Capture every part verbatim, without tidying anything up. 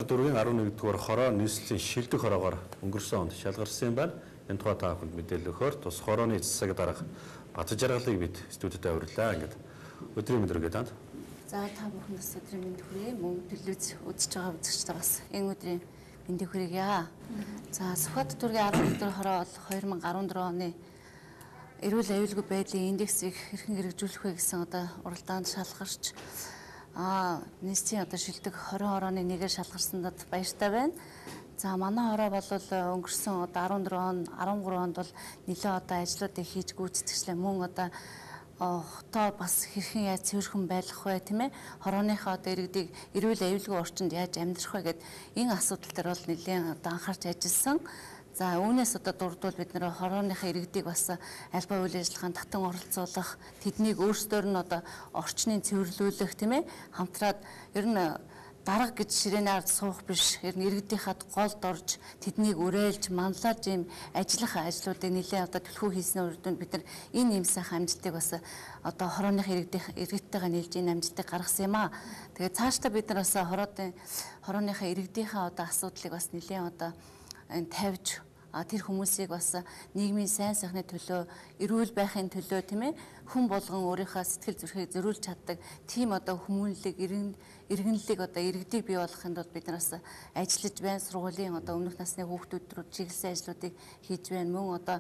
Дөрвийн арван нэгдүгээр хороо нийслэлийн шилдэг хороогоор өнгөрсөн онд шалгарсан байна. Энэ тухай та бүхэнд мэдээлэл өгөхөөр тус хорооны эцсэг дарга Бат жаргалыг бид студиуд авирлаа. Ингээд өдрийн мэдрэг танд. За та бүхнээс өдрийн мэнд хүргэе. Мөн телевиз үзэж байгаа үзэгчдээ бас энэ өдрийн мэндийг хүргье. За Сүхбаатар дүүргийн арван нэгдүгээр хороо бол хоёр мянга арван дөрвөн оны эрүүл аюулгүй байдлын индексийг хэрхэн хэрэгжүүлэх вэ гэсэн одоо уралдаанд шалгарч а нийслэлийн одоо шилдэг хорин хорооны нэгээр шалгарсандад баяртай байна. За манай хороо бол өнгөрсөн одоо арван дөрвөн он арван гурван онд бол нэлээд одоо ажлуудыг хийж гүйцэтгчлээ. Мөн одоо хотоо бас хэрхэн яаж цэвэрхэн байлгах вэ тийм ээ? Хорооныхоо одоо иргэдийг эрүүл аюулгүй орчинд яаж амьдрах вэ гэд энэ асуудал дээр бол нэлээд одоо анхаарч ажилласан. За үүнээс одоо дурдвал бид нэр хорооныхаа иргэдийг бас албан үйл ажиллагаанд татан оролцуулах, тэднийг өөрсдөр нь одоо орчныг цэвэрлүүлэх тийм ээ? Хамтраад ер нь дарга гэж ширээнээр суух биш, ер нь иргэдийнхад голд орж тэднийг уриалж, манлайлж ийм ажиллах ажлуудыг нэлээд одоо төлхөө хийсний урд нь бид нар энэ юм сайхан амжилтыг бас одоо хорооныхаа иргэдийн иргэдтэйгээ нийлж энэ амжилтыг гаргасан юм аа. Тэгээд цаашдаа бид нар бас хороодын хорооныхаа иргэдийнхаа одоо асуудлыг бас нэлээд одоо энэ тавьж тэр хүмүүсийг бас нийгмийн сайн сайхны төлөө, эрүүл байхын төлөө тийм ээ хүн болгон өөрийнхөө сэтгэл зүрхийг зөрүүлж чаддаг тийм одоо хүмүүнлэг, иргэнлэг одоо иргэдийг бий болгохын тулд бид нараас ажиллаж байна. Сургуулийн одоо өмнөх насны хүүхдүүд рүү чиглэсэн ажлуудыг хийж байна. Мөн одоо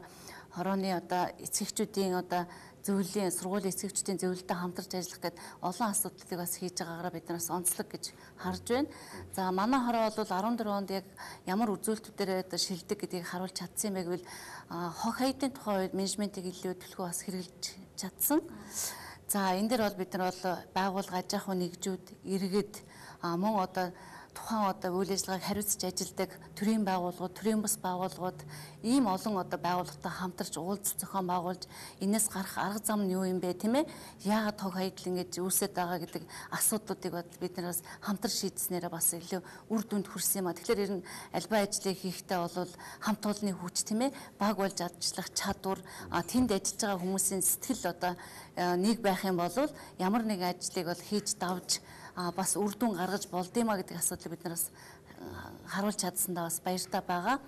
хорооны одоо эцэгчүүдийн одоо зөвлөлийн сургуулийн эцэгчдийн зөвлөлтөд хамтарч ажиллах гэдэг олон асуудлыг бас хийж байгаагаар бид нараас онцлог гэж харж байна. За манай хороо бол арван дөрвөн онд яг ямар үзүүлэлтүүдээр шилдэг гэдгийг харуулж чадсан юм бэ гэвэл хог хаягдын тухай үед менежментийг илүү төлхөө бас хэрэгжилж чадсан. За энэ дээр бол бид нар бол байгууллага, аж ахуй нэгжүүд, иргэд мөн одоо тухайн одоо үйл ажиллагааг хариуцж ажилладаг төрийн байгууллагууд, төрийн бас байгууллагууд ийм олон одоо байгууллагатай хамтарч уулзалт зохион байгуулж энэс гарах арга зам нь юу юм бэ тийм ээ? Яагаад хог хаягдл ингэж үүсэж байгаа гэдэг асуудлуудыг бид нараас хамтар шийдснээр бас илүү үр дүнд хүрсэн юм а. Тэгэхээр ер нь албан ажлыг хийхдээ бол хамт олонны хүч тийм ээ? Баг болж ажиллах чадвар, тэнд ажиллаж байгаа хүмүүсийн сэтгэл одоо нэг байх юм бол ямар нэгэн ажлыг бол хийж давж бас үр дүн гаргаж болдгиймаа гэдэг асуудлыг бид нараас харуулж чадсандаа бас баяртай байгаа.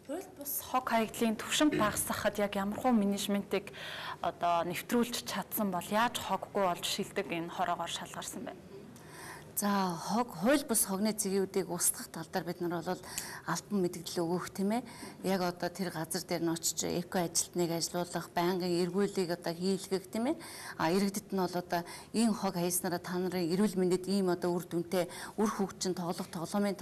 Хууль бус хог хаягдлын түвшинг багасгахад яг ямархуу менежментийг одоо нэвтрүүлж чадсан бол яаж хоггүй болж шилдэг энэ хороогоор шалгарсан бэ? За хог хууль бус хогны цэгийн үдийг устгах тал дээр бид нар бол албан мэдээлэл өгөх тийм ээ. Яг одоо тэр газар дээр нь очиж эко ажилтныг ажилуулах, байнгын эргүүлийг одоо хийлгэх тийм ээ. А иргэдэд нь бол одоо ийм хог хайснараа та нарын эрүүл мэндэд ийм одоо үр дүнтэй, үр хөгжин тоглох тоглоомын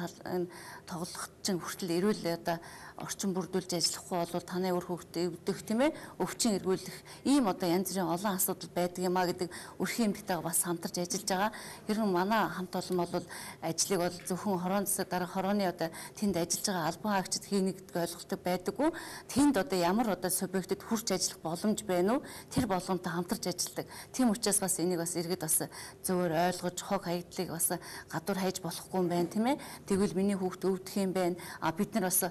тоглохчин хүртэл эрүүл одоо орчин бүрдүүлж ажиллахгүй бол таны үр хөвгтөд өвдөх тийм ээ. Өвчин эргүүлэх ийм одоо янз бүрийн олон асуудал байдаг юм а гэдэг өрхийн эмгтэйгээ бас хамтарч ажиллаж байгаа. Ер нь манай хамт олон бол ажлыг бол зөвхөн хорон засаг дарга хорооны одоо тэнд ажиллаж байгаа албан хаагчид хийнэ гэдэг ойлголттой байдаггүй. Тэнд одоо ямар одоо субъектэд хүрч ажиллах боломж байна уу? Тэр болгоомтой хамтарч ажилладаг. Тийм учраас бас энийг бас иргэд бас зөвөр ойлгож хог хаягдлыг бас гадуур хайж болохгүй юм байна тийм ээ. Тэгвэл миний хүүхд өвдөх юм байна. А бид нар бас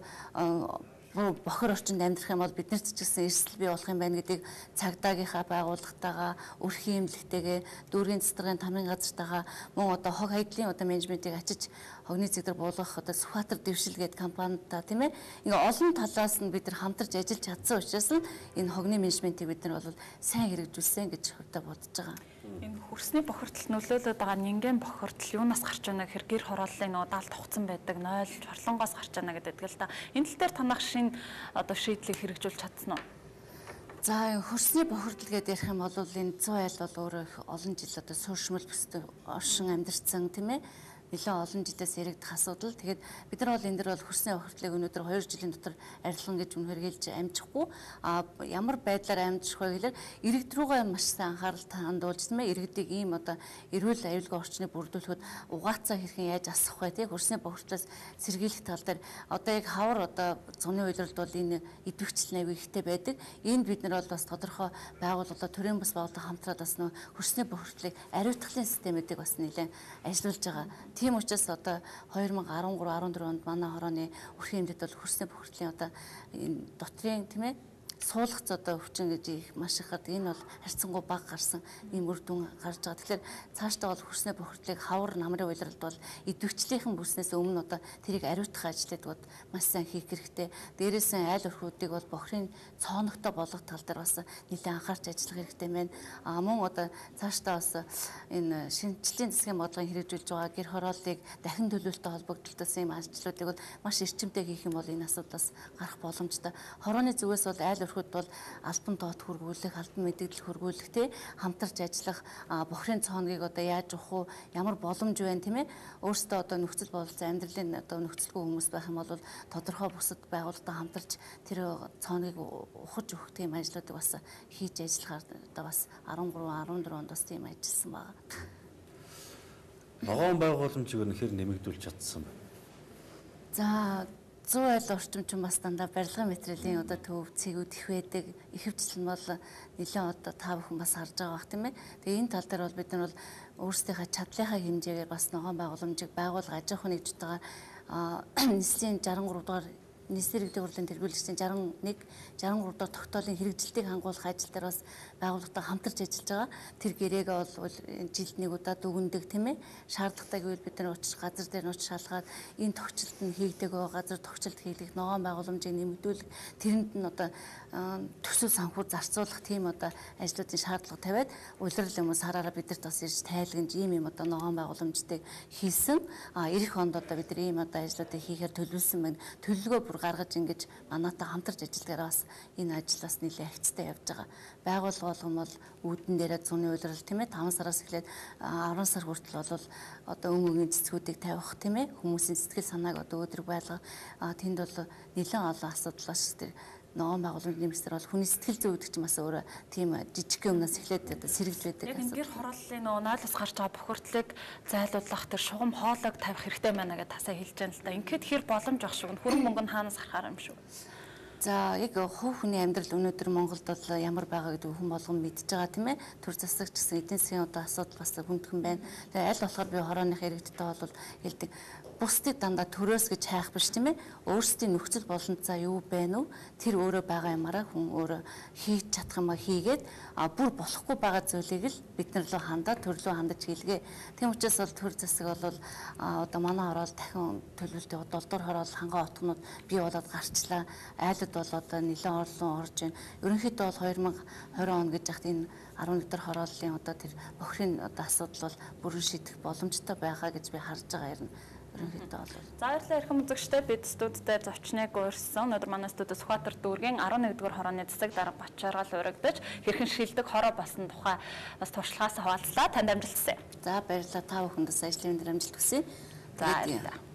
бохор орчинд амьдрах юм бол биднэрт ч гэсэн эрсдэл бий болох юм байна гэдгийг цагдаагийнхаа байгууллагатайгаа, өрхийн эмнэлэгтэйгээ, дүүргийн цэцэргийн тамирын газартайгаа мөн одоо хог хаягдлын одоо менежментийг ачиж хогны цэгдэр буулгах одоо Сүхбаатар дэвшил гэдэг компанитай тийм ээ. Ингээ олон талаас нь бид нар хамтарч ажиллаж чадсан учраас нь энэ хогны менежментийг бид нар бол сайн хэрэгжүүлсэн гэж хувьдаа бодож байгаа. Энэ хөрсний бохирдол нөлөөлөд байгаа нингэн бохирдол юунаас гарч байна гэхээр гэр хорооллын нөгөө даалт хугацсан байдаг, нойл, чорлонгоос гарч байна гэдэг л да. Энэ тал дээр танах шинэ одоо шийдлийг хэрэгжүүлж чадсан уу? За хөрсний бохирдол гэдэг ярих юм бол энэ зүүн айл бол өөрөө их олон жил одоо суурьшмал бүстэй оршин амьдарсан тийм ээ. Нэлээд олон жилээс яригдах асуудал. Тэгээд бид нар бол энэ дэр бол хөрсний бохирдлыг өнөөдөр хоёр жилийн дотор арилгана гэж үнэхээр хэлж амжихгүй. А ямар байдлаар амжих вэ гэхээр иргэд рүүгээ маш сайн анхаарал хандуулж тийм ээ. Иргэдийг ийм одоо эрүүл аюулгүй орчныг бүрдүүлэхэд угаацаа хэрхэн яаж асах вэ тийм хөрсний бохирдлоос сэргийлэх тал дээр одоо яг хавар одоо цуны үйлрэлд бол энэ идэвхжил нэвийг ихтэй байдаг. Энд бид нар бол бас тодорхой байгууллага төрийн бас байгууллага хамтраад бас нөө хөрсний бохирдлыг ариутгахын системүүдийг бас нэлээд ажиллуулж байгаа. Тийм учраас одоо хоёр мянга арван гурав арван дөрвөн онд манай хорооны өрхийн эмнэлэгт бол хөрсний бохирдлын одоо энэ дотрийн тийм ээ суулгац одоо өвчин гэж их маш их гардаг. Энэ бол харьцангуй бага гарсан ийм үр дүн гарч байгаа. Тэгэхээр цаашдаа бол хөрснөө бохирдлыг хавар намрын уйлралд бол идэвхжлийнхэн бүснээс өмнө одоо тэрийг ариутгах ажлыг бол маш сайн хийх хэрэгтэй. Дээрээс нь айл өрхүүдийг бол бохирын цооногтой болгох тал дээр бас нэлээд анхаарч ажиллах хэрэгтэй байна. А мөн одоо цаашдаа бас энэ шинжлэлийн засгийн бодлогын хэрэгжүүлж байгаа гэр хорооллыг дахин төлөвлөлтөй холбогдлолтоос ийм ажлуудыг бол маш эрчимтэй хийх юм бол энэ асуудлаас гарах боломжтой. Хорооны зүгээс бол айл өрхүүд бол албан доот хөргүүлэх, албан мэдээлэл хөргүүлэх тий хамтарч ажиллах, бохирын цооногийг одоо яаж авах уу, ямар боломж байна тийм ээ. Өөрсдөө одоо нөхцөл бололцоо амьдралын одоо нөхцөлгүй хүмүүс байх юм бол тодорхой бусад байгууллагатай хамтарч тэр цооногийг ухаж өгөх тийм ажлуудыг бас хийж ажиллахаар одоо бас арван гурав арван дөрөв онд бас тийм ажилласан байна. Ногоон байгууламжийг өнөхөр нэмэгдүүлж чадсан байна. За зуун айл орчимчин бас дандаа барилгын материалын одоо төв цэгүүд их байдаг. Ихэвчлэн бол нэлээд одоо та бүхэн бас харж байгаа бах тийм ээ. Тэгээ энэ тал дээр бол бид нар бол өөрсдийнхээ чадлынхаа хэмжээгээр бас ногоон байгууламжийг байгуулга аж ахуйн нэгжтэйгээр нийслэлийн жарган гурав дахь нийслэлийн иргэдийн хурлын тэргүүлэгчдийн жарган нэг жарган гурав дахь тогтоолын хэрэгжилтийг хангуулах ажил дээр бас байгууллагатай хамтарч ажиллаж байгаа. Тэр гэрээгээ бол жилд нэг удаа дүгндэг тийм ээ. Шаардлагатай гэвэл бид нар очиж газар дээр нь очиж шалгаад энэ тогтчлолт нь хийгдэг байгаа газар тогтчлолт хийлгэх ногоон байгууламжийг нэмэгдүүлэх тэрэнд нь одоо төсөв санхүү зарцуулах тийм одоо ажлуудын шаардлага тавиад улирал юм сараараа бидэрт бас ирж тайлгнаж ийм юм одоо ногоон байгууламжтайг хийсэн. А эх онд одоо бид нар ийм одоо ажлуудыг хийхээр төлөвлөсөн байна. Төлөвлөгөө бүр гаргаж ингэж манайтай хамтарч ажиллагаа бас энэ ажил бас нэлээд хөвцтэй явж байгаа. Байгууллага болгон бол үүдэн дээрээ зуны улирал тийм ээ таван сараас эхлээд арван сар хүртэл бол одоо өм өгийн цэцгүүдийг тавих тийм ээ хүмүүсийн сэтгэл санааг одоо өдрөг байлгах тэнд бол нэлээд олон асуудал бас тэр ногоон байгууламжийн нэмэгсээр бол хүний сэтгэл зүй гэдэг чинь бас өөрөө тийм жижиг юмнаас эхлээд одоо сэргэлж байдаг. Яг энэ гэр хорооллын нөгөө нойлоос гарч байгаа бохирдлыг зайлуулах тэр шугам хоолойг тавих хэрэгтэй байна гэдээ тасаа хэлж байгаа л да. Ингээд хэр боломж ах шиг хөрөн мөнгө нь хаанаас гарахаар юм шүү. За яг хувь хүний амьдрал өнөөдөр Монголд бол ямар байгаа гэдэг хүн болгон мэдж байгаа тийм ээ. Төр засагч гэсэн эдийн засгийн одоо асуудал бас хүндхэн байна. Тэгээ аль болохоор би хорооных иргэдтэй бол хэлдэг. Бусдыг дандаа төрөөс гэж хайх биш тийм ээ. Өөрсдийн нөхцөл боломжтой юу байна уу? Тэр өөрөө байгаа юмараа хүн өөрөө хийж чадах юмаа хийгээд а бүр болохгүй байгаа зүйлийг л бид нар руу хандаад төр рүү хандаж хийлгээ. Тийм учраас бол төр засаг бол одоо манай хороол дахин төлөвлөлтөд долдуур хороол хангаа отгонууд бий болоод гарчлаа. Айлд бол одоо нэлээд орлон орж байна. Ерөнхийдөө бол хоёр мянга хорин он гэж яхад энэ арван нэг дахь хорооллын одоо тэр бохирын одоо асуудал бол бүрэн шийдэх боломжтой байгаа гэж би харж байгаа юм. За баярлалаа эрхэм үзэгчдээ бид студидээр зочныг урьсан. Өнөөдөр манай студид Сүхбаатар дүүргийн арван нэгдүгээр хорооны засаг дарга Бачааргал урагдаж хэрхэн шилдэг хороо болсон тухай бас туршлагаас хаваалцлаа. Танд амжилт хүсье. За баярлалаа та бүхэнд бас ажлын дээр амжилт хүсье. За баярлалаа.